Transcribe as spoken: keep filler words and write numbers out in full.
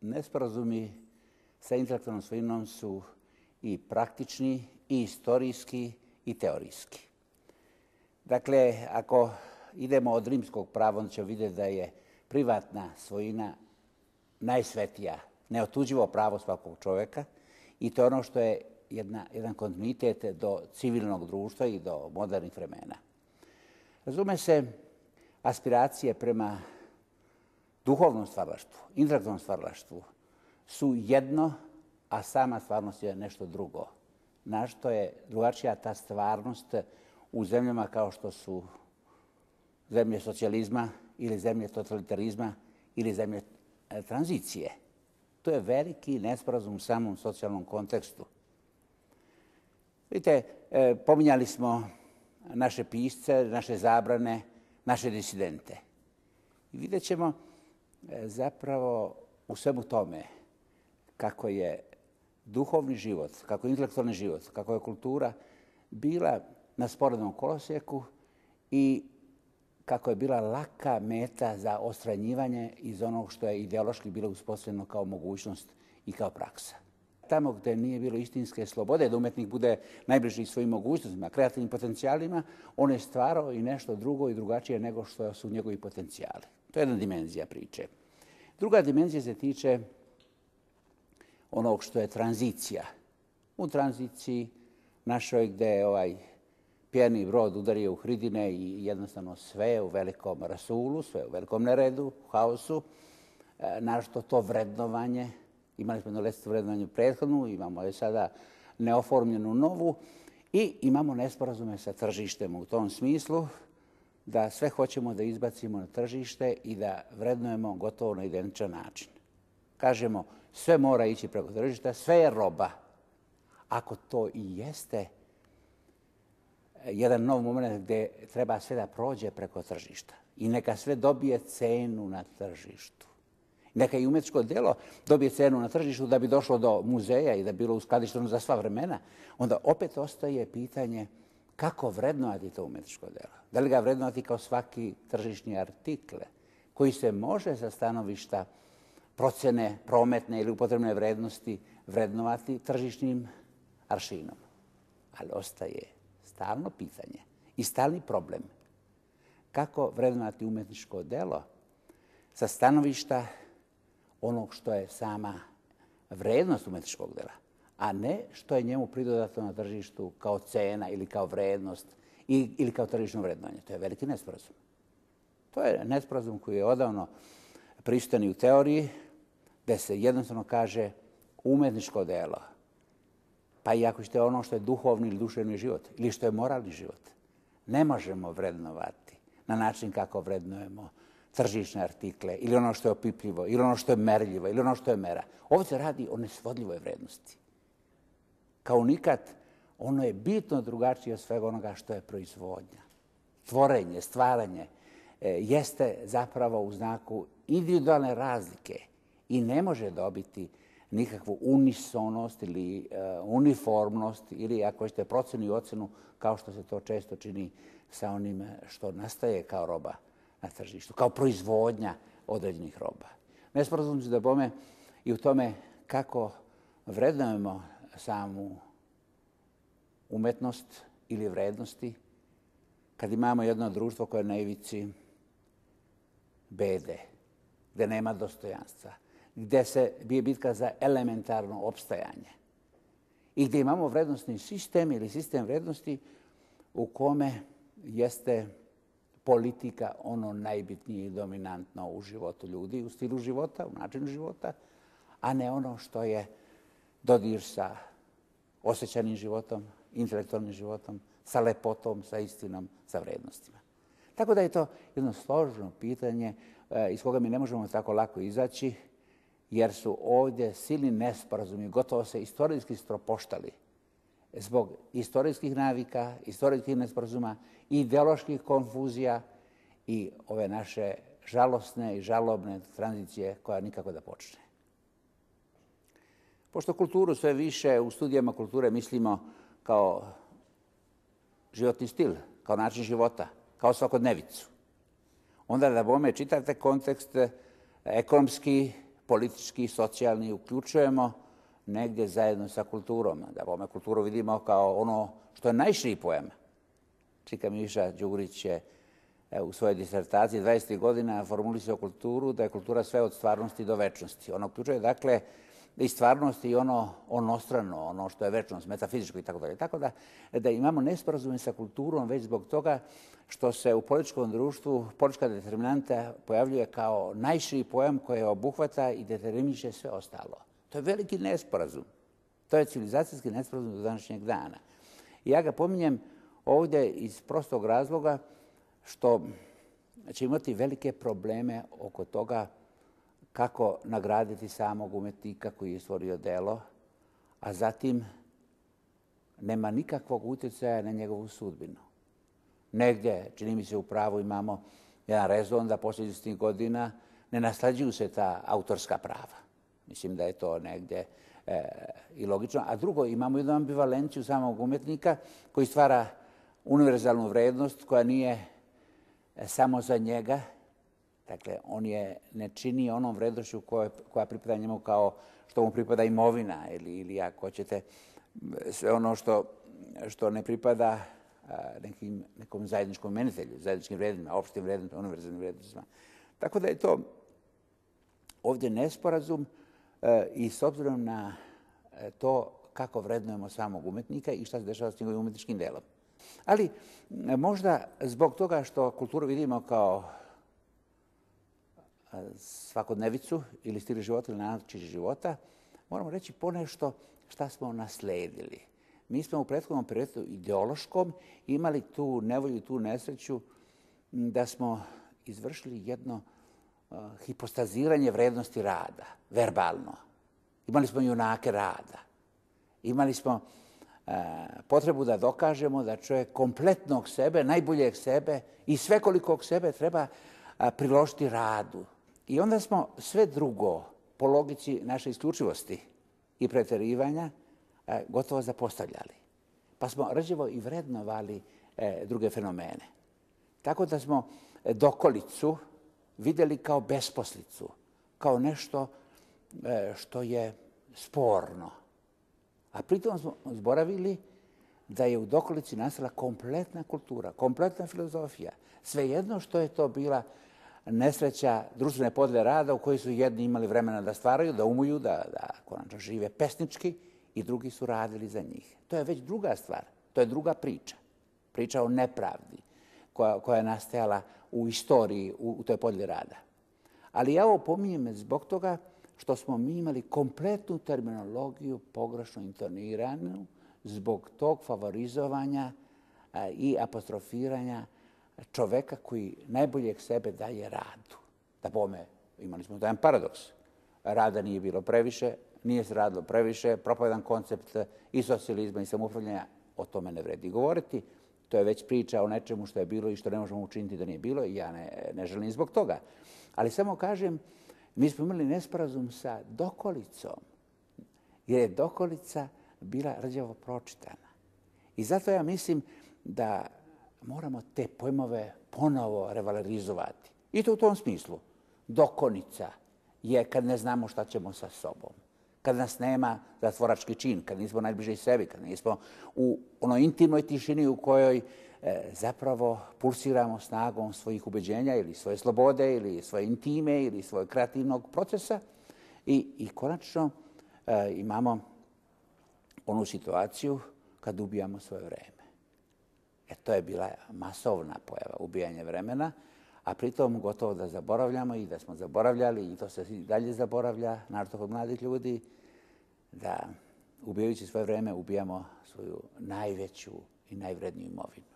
nesporazumi sa intelektualnom svojinom su i praktični, i istorijski, i teorijski. Dakle, ako idemo od rimskog prava, onda ćemo vidjeti da je privatna svojina najsvetija, neotuđivo pravo svakog čovjeka i to je ono što je jedna, jedan kontinuitet do civilnog društva i do modernih vremena. Razume se, aspiracije prema duhovnom stvaralaštvu, intelektualnom stvaralaštvu su jedno, a sama stvarnost je nešto drugo. Našto je drugačija ta stvarnost u zemljama kao što su zemlje socijalizma ili zemlje totalitarizma ili zemlje tranzicije. To je veliki nesporazum u samom socijalnom kontekstu. Vidite, pominjali smo naše pisce, naše zabrane, naše disidente. I vidjet ćemo zapravo u svemu tome kako je duhovni život, kako je intelektualni život, kako je kultura bila na sporednom kolosijeku i kako je bila laka meta za odstranjivanje iz onog što je ideološki bilo uspostavljeno kao mogućnost i kao praksa. Tamo gdje nije bilo istinske slobode, da umetnik bude najbliži svojim mogućnostima, kreativnim potencijalima, on je stvarao i nešto drugo i drugačije nego što su njegovi potencijali. To je jedna dimenzija priče. Druga dimenzija se tiče onog što je tranzicija. U tranziciji našoj gdje je ovaj pjeni brod udario u hridine i jednostavno sve u velikom rasulu, sve u velikom neredu, haosu, našto to vrednovanje. Imali smo jednu lestvu vrednovanje prethodnu, imamo je sada neoformljenu novu i imamo nesporazume sa tržištem u tom smislu da sve hoćemo da izbacimo na tržište i da vrednujemo gotovo na identičan način. Kažemo, sve mora ići preko tržišta, sve je roba. Ako to i jeste jedan nov moment gdje treba sve da prođe preko tržišta i neka sve dobije cenu na tržištu. Neka i umetničko djelo dobije cenu na tržištu da bi došlo do muzeja i da bi bilo uskladišteno za sva vremena, onda opet ostaje pitanje kako vrednovati to umetničko djelo. Da li ga vrednovati kao svaki tržišni artikle koji se može sa stanovišta procjene prometne ili upotrebne vrednosti vrednovati tržišnim aršinom. Ali ostaje stalno pitanje i stalni problem kako vrednovati umetničko djelo sa stanovišta onog što je sama vrednost umetničkog djela, a ne što je njemu pridodato na tržištu kao cena ili kao vrednost ili kao tržišno vrednovanje. To je veliki nesporazum. To je nesporazum koji je odavno prisutan i u teoriji, gdje se jednostavno kaže umetničko djelo, pa i ako ćete ono što je duhovni ili duševni život ili što je moralni život, ne možemo vrednovati na način kako vrednujemo tržišne artikle ili ono što je opipljivo ili ono što je merljivo ili ono što je mera. Ovo se radi o nesvodljivoj vrednosti. Kao nikad, ono je bitno drugačije od svega onoga što je proizvodnja. Tvorenje, stvaranje e, jeste zapravo u znaku individualne razlike i ne može dobiti nikakvu unisonost ili uh, uniformnost ili ako ćete procjenu i ocjenu kao što se to često čini sa onim što nastaje kao roba na tržištu, kao proizvodnja određenih roba. Nesporazum se da bome i u tome kako vrednujemo samu umetnost ili vrednosti kad imamo jedno društvo koje je na ivici bede, gdje nema dostojanstva, gdje se bije bitka za elementarno opstajanje i gdje imamo vrednostni sistem ili sistem vrednosti u kome jeste politika ono najbitnije i dominantno u životu ljudi, u stilu života, u načinu života, a ne ono što je dodir sa osjećanim životom, intelektualnim životom, sa lepotom, sa istinom, sa vrednostima. Tako da je to jedno složeno pitanje iz koga mi ne možemo tako lako izaći, jer su ovdje silni nesporazumi, gotovo se istorijski stropoštali zbog istorijskih navika, istorijskih nesporazuma, ideoloških konfuzija i ove naše žalosne i žalobne tranzicije koja nikako da počne. Pošto kulturu sve više u studijama kulture mislimo kao životni stil, kao način života, kao svakodnevicu, onda da bome čitate kontekst ekonomski, politički i socijalni uključujemo negdje zajedno sa kulturom. Da bome kulturu vidimo kao ono što je najširi pojam. Čika Miša Đurić je u svojoj disertaciji dvadesetih godina formulisao kulturu, da je kultura sve od stvarnosti do večnosti. Ona uključuje, dakle, i stvarnost i ono onostrano, ono što je večnost, metafizičko i tako dalje. Tako da, da imamo nesporazume sa kulturom već zbog toga što se u političkom društvu politička determinanta pojavljuje kao najširi pojam koji obuhvata i determiniše sve ostalo. To je veliki nesporazum. To je civilizacijski nesporazum do današnjeg dana. I ja ga pominjem ovdje iz prostog razloga što će imati velike probleme oko toga kako nagraditi samog umetnika koji je stvorio delo, a zatim nema nikakvog utjecaja na njegovu sudbinu. Negdje, čini mi se, u pravu imamo jedan rezon da posljednjih godina ne naslađuju se ta autorska prava. Mislim da je to negdje e, i logično. A drugo, imamo jednu ambivalenciju samog umetnika koji stvara univerzalnu vrednost koja nije samo za njega. Dakle, on je ne čini onom vrednošću koja, koja pripada njemu kao što mu pripada imovina ili, ili ako hoćete, sve ono što, što ne pripada nekim, nekom zajedničkom menitelju, zajedničkim vrednostima, opštim vrednostima, univerzalnim vrednostima. Tako da je to ovdje nesporazum i s obzirom na to kako vrednujemo samog umetnika i šta se dešava s njegovim umetničkim delom. Ali možda zbog toga što kulturu vidimo kao svakodnevicu ili stil života ili način života, moramo reći ponešto šta smo nasledili. Mi smo u prethodnom periodu ideološkom imali tu nevolju i tu nesreću da smo izvršili jedno uh, hipostaziranje vrednosti rada, verbalno. Imali smo junake rada. Imali smo uh, potrebu da dokažemo da čovjek kompletnog sebe, najboljeg sebe i svekolikog sebe treba uh, priložiti radu. I onda smo sve drugo, po logici naše isključivosti i preterivanja, gotovo zapostavljali. Pa smo rđevo i vrednovali druge fenomene. Tako da smo dokolicu vidjeli kao besposlicu, kao nešto što je sporno. A pritom smo zboravili da je u dokolici nastala kompletna kultura, kompletna filozofija. Svejedno što je to bila nesreća društvene podle rada u kojoj su jedni imali vremena da stvaraju, da umuju, da, da konačno žive pesnički i drugi su radili za njih. To je već druga stvar, to je druga priča. Priča o nepravdi koja, koja je nastajala u istoriji, u, u toj podli rada. Ali ja ovo pominjem zbog toga što smo mi imali kompletnu terminologiju pogrešno intoniranu zbog tog favorizovanja a, i apostrofiranja čoveka koji najboljeg sebe daje radu. Da bome, imali smo jedan paradoks. Rada nije bilo previše, nije se radilo previše, propao jedan koncept i socijalizma i samoupravljanja, o tome ne vredi govoriti. To je već priča o nečemu što je bilo i što ne možemo učiniti da nije bilo i ja ne, ne želim zbog toga. Ali samo kažem, mi smo imali nesporazum sa dokolicom, jer je dokolica bila rđavo pročitana. I zato ja mislim da moramo te pojmove ponovo revalorizovati. I to u tom smislu. Dokonica je kad ne znamo šta ćemo sa sobom. Kad nas nema zatvorački čin, kad nismo najbliže sebi, kad nismo u onoj intimnoj tišini u kojoj e, zapravo pulsiramo snagom svojih ubeđenja ili svoje slobode ili svoje intime ili svojeg kreativnog procesa. I, i konačno e, imamo onu situaciju kad ubijamo svoje vreme. E, to je bila masovna pojava, ubijanje vremena, a pritom gotovo da zaboravljamo i da smo zaboravljali, i to se i dalje zaboravlja, naročito kod mladih ljudi, da ubijajući svoje vreme ubijamo svoju najveću i najvredniju imovinu.